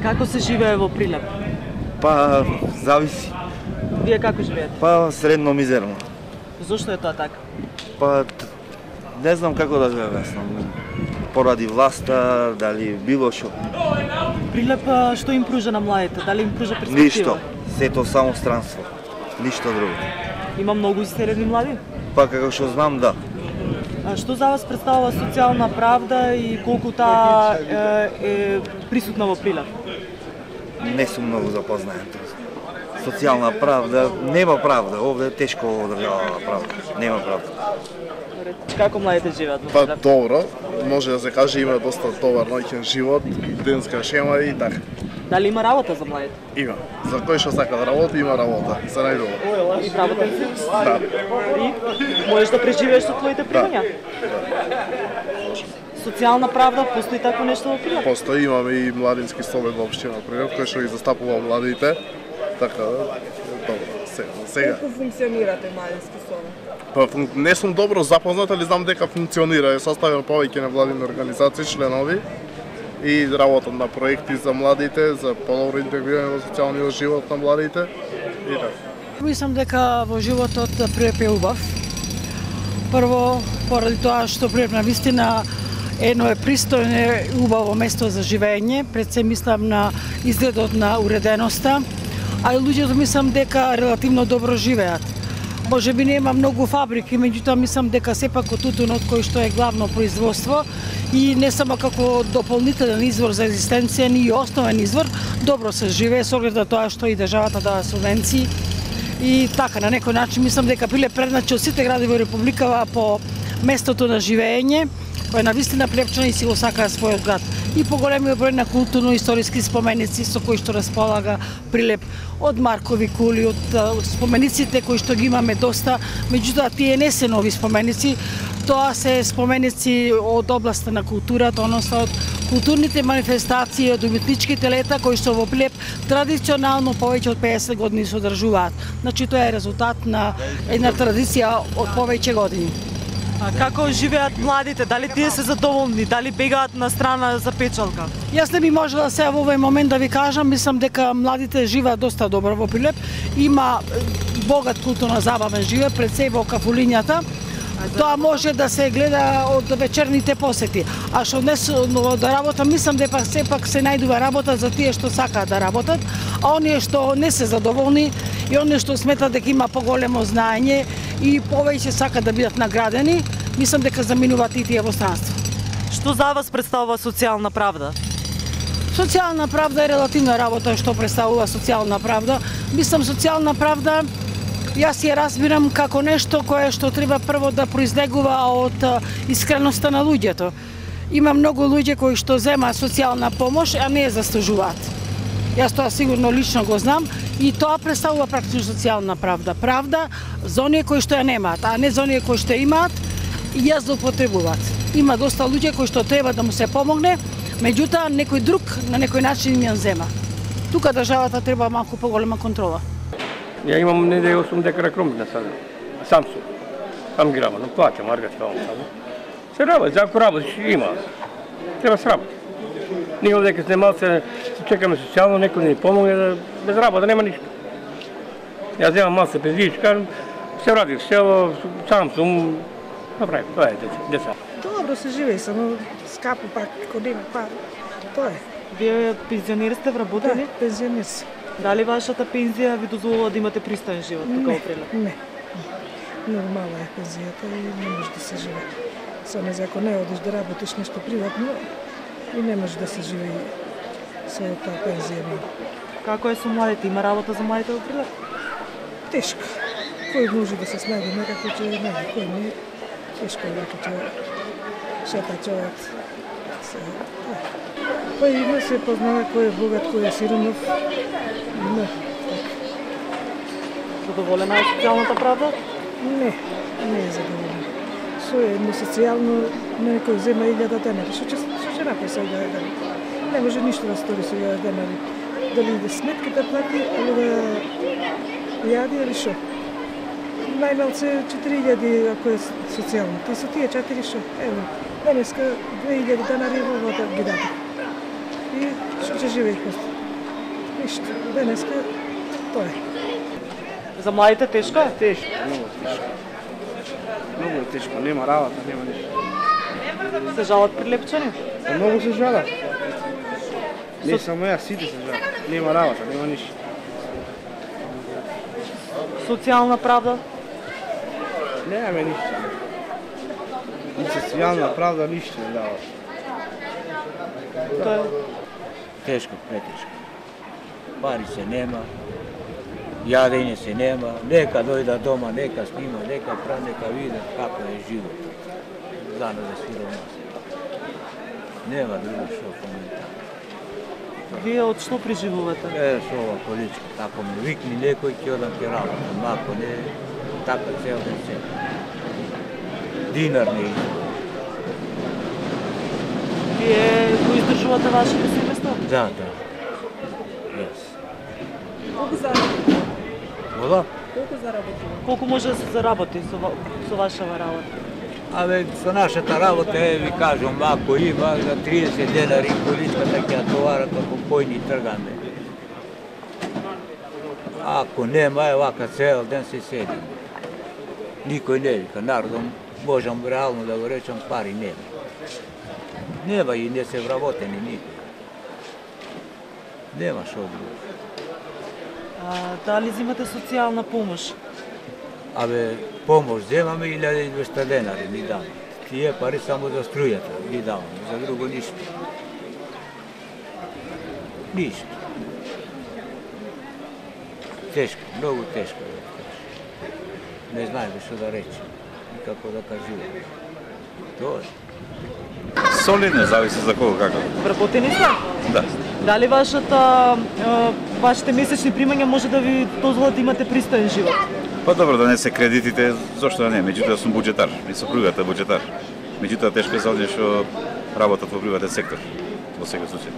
Како се живее во Прилеп? Па, зависи. Вие како живеете? Па, средно мизерно. Зошто е тоа така? Па, не знам како да го објаснам. Поради власта, дали било што. Прилеп што им пружа на младите? Дали им пружа перспектива? Ништо. Сето само странство. Ништо друго. Има многу истерени млади? Па, како што знам, да. А што за вас представува социјална правда и колку таа е присутна во Прилеп? Не сум многу запознаен. Социјална правда, нема правда. Овде е тешко одржава правда. Нема правда. Како младите живеат во Па Прилеп? добро, може да се каже има доста добар ноќен живот, денска шема и така. Дали има работа за младите? Има. За кој што сака да работи, има работа. За најдобро. И вработен си? Да. И можеш да преживееш со твоите примања? Социјална правда, постои такво нешто во Прилеп? Постои, имаме и младински совет во општина Прилеп, кој што ги застапува младите. Така да, добро. Сега. Како функционирате младински совет? Па, не сум добро запознат, али знам дека функционира. Е составен повеќе невладини организации, членови и работат на проекти за младите, за подобро интегрирање во социјалниот живот на младите и така. Мислам дека во животот Прилеп е убав. Прво, поради тоа што Прилеп на вистина едно е пристојно и убаво место за живење, пред се мислам на изгледот на уреденоста, а и луѓето мислам дека релативно добро живеат. Може би нема многу фабрики, меѓутоа мислам дека сепак од тутунот кој што е главно производство и не само како дополнителен извор за екзистенција, ни и основен извор, добро се живее со оглед на тоа што и државата дава субвенции. И така, на некој начин мислам дека Прилеп предначи од сите градови во Републикава по местото на живење, кој навистина прилепчани си го сакаат својот град. И по големиот број на културно-историски споменици со кои што располага Прилеп, од Маркови кули, од спомениците кои што ги имаме доста, меѓутоа тие не се нови споменици, тоа се споменици од областа на културата, односно од културните манифестации, од уметничките лета кои што во Прилеп традиционално повеќе од 50 години се одржуваат. Значи тоа е резултат на една традиција од повеќе години. А како живеат младите? Дали тие се задоволни? Дали бегаат на страна за печалка? Јас не би можела сега во овој момент да ви кажам, мислам дека младите живеат доста добро во Прилеп. Има богат културно-забавен живот, пред се во кафулињата. Тоа може да се гледа од вечерните посети. А што однесено до работа, мислам дека сепак се најдува работа за тие што сакаат да работат, а оние што не се задоволни и оние што сметат дека има поголемо знаење и повеќе сакаат да бидат наградени, мислам дека заминуваат и тие во странство. Што за вас представува социјална правда? Социјална правда е релативна работа што представува социјална правда. Мислам социјална правда јас ја разбирам како нешто кое што треба прво да произлегува од искреноста на луѓето. Има многу луѓе кои што земаат социјална помош, а не ја заслужуваат. Јас тоа сигурно лично го знам и тоа представува практично социјална правда. Правда за оние кои што ја немаат, а не за оние кои што имаат и ја злоупотребуваат. Има доста луѓе кои што треба да му се помогне, меѓутоа некој друг на некој начин им ја зема. Тука државата треба малку поголема контрола. Ја имам неделја 8 декара кромпина сада. Сам сум. Сам ги работам, плаќам, аргати ваму сада. Се работи, ако работиш има. Треба се работи. Ние овде сме малце чекаме социјално, некој ни помогне, без работа нема ништо. Јас земам малце пензијичка, се вратив в село, сам сум, направи, тоа е деца. Добро се живее, само скапо пак, кога нема пари. Тоа е. Вие пензионер сте, вработени? Да, пензионер си. Дали вашата пензија ви дозволува да имате пристоен живот тука во Прилеп? Не. Нормална е пензијата и не може да се живее. Само ако не одиш да работиш нешто приватно и не може да се живее со таа пензија. Како е со младите? Има работа за младите во Прилеп? Тешко. Кој може да се снајде некако ќе најде, кој не. Тешко е дека ќе шета човек. Па има се познава кој е богат, кој е сиромав. Не, така. Задоволена е социјалната правда? Не, не е задоволена. Со едно социјално некој зема 1000 денари. Што ќе направи со 1000 денари? Не може ништо да стори со 1000 денари. Дали да сметки да плати, или да јади, или шо. Најмалце 4000 ако е социјално. Та со тие 4 шо? Ево, денеска 2000 денари во вода ги даде. И што ќе живее после? Ништо. Денеска тоа е. За младите тешко е? Тешко, многу тешко. Многу е тешко, нема работа, нема ништо. Се жалат Прилепчани? Многу се жалат. Не само јас, сите се жалат. Нема работа, нема ништо. Социјална правда? Немаме ништо. Ни социјална правда, ништо не дава. Тоа е. Тешко, претешко. Пари се нема, јадење се нема, нека дојда дома, нека снима, нека прави, нека види како е живот. За нас е сиромас. Нема друго што коментар. Вие од што преживувате? Со ова политика, тако ме викни некој ќе одам ќе работам, ако не, така цел ден се. Динар не иде. Вие го издржувате вашето семејство? Да. Јас. Колку заработите? Вода? Колку заработите? Колку може да се заработи со вашава работа? Абе, со нашата работа, ви кажам, ако има за 30 денари количката ќе ја товарат, ако појни тргаме. Ако нема, вака цел ден се седим. Никој не вика, народом, можам реално да го речам, пари нема. Нема и не се вработени никој. Нема шо друго. Дали взимате социјална помош? Абе, помош земаме 1200 денари ни дам. Тие пари само за струјата ни дам, за друго ништо. Ништо. Тешко, многу тешко. Не знаеме што да речем и како да кажуваме. Тоа е. Солидно, зависи за кого како. Вработени сте? Да. Дали вашите месечни примања може да ви дозволат да имате пристоен живот? Па добро да не се кредитите, зошто да не? Меѓутоа сум буџетар, и сопругата буџетар. Меѓутоа тешко е за оние што работат во приватен сектор, во секој случај.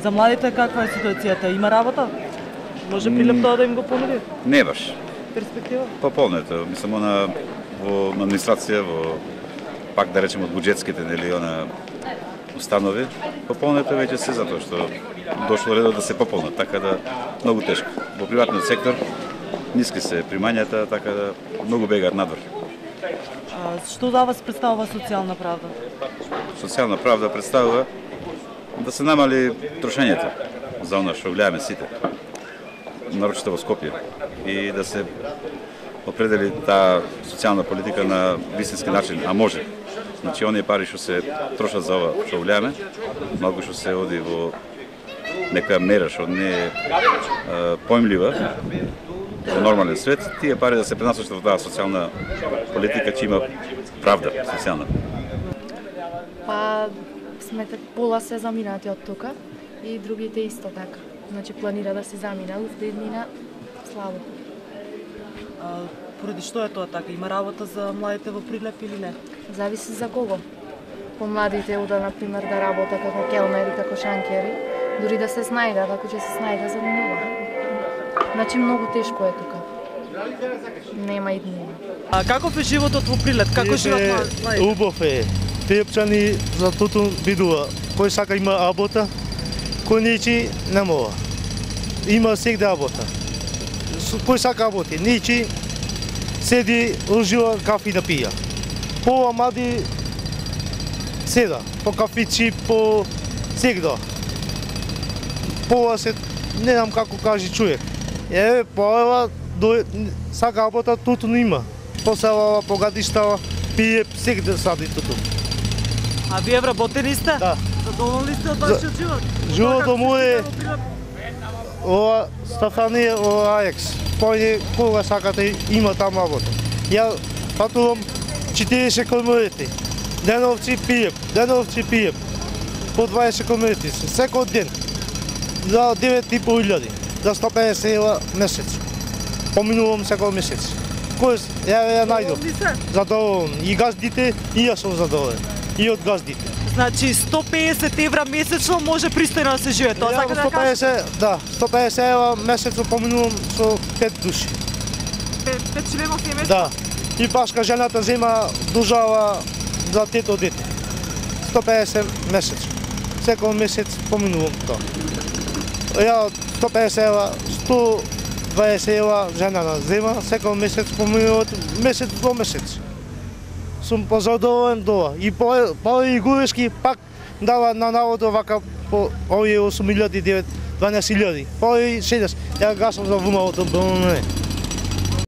За младите каква е ситуацијата? Има работа? Може Прилеп тоа да им го понуди? Не баш. Перспектива? Пополнето, мислам она во администрација, во пак да речем од буџетските нели она установи, пополнето веќе се затоа што дошло редот да се пополнат, така да многу тешко. Во приватниот сектор ниски се примањата, така да многу бегаат надвор. Што за вас представува социјална правда? Социјална правда представува да се намали трошењето за она што гледаме сите, нарочито во Скопје, и да се определи таа социјална политика на вистински начин, а може. Значи, оние пари што се трошат за ова што гледаме, малку што се оди во нека мера што не е поимлива во нормален свет, тие пари да се пренасочат во таа социјална политика, че има правда социјална. Па, смете, пола се заминати од тука и другите исто така. Значи, планира да се замина, деднина слабо. Поради што е тоа така? Има работа за младите во Прилеп или не? Зависи за кого. Помладите ода, например, да работа како келнери, како шанкери, дури да се снајдат, ако ќе се снајдат, заминува. Значи, многу тешко е тука. Нема и днина. Каков е животот во Прилеп? Како живеат младите? Убав е. Прилепчани за тото бидува. Кој сака има работа, кој нечи не мова. Има сегде работа. Кој сака работи, нечи седи, ужива кафи да пија. Пова млади седа, по кафичи, по сегда. Пова се, не знам како кажи човек. Пова сака работа, тото не има. Посела, погадиштава, пие, сегде сади тото. А вие вработени сте? Да. Задоволни сте од вашиот живот? Животот му е ова Стафанија, ова Аекс. Појде кога сакате има таму работа. Ја патувам 40 километри. Деновци пиеп. По 20 километри секој ден. За 9.500, за 150 евра месец. Поминувам секој месец. Кој ја најдов? Задоволен. И газдите, и јас сум задоволен. И од газдите. Значи 150 евра месечно може пристојно да се живее, тоа сака да кажете? Да, 150 евра месечно поминувам со 5 души. 5 члена семејство? Да. И башка жената зема дужава за тето дете. 150 месечно. Секој месец поминувам тоа. Ја 150 ева, 120 ева женана зема, секој месец поминуват месец до месец. Сум позадоволен до ова. И Павле Груевски пак дава на народот вака по овие 8.000, 12.000. Павле 60. Ја гасам за ВМО-то,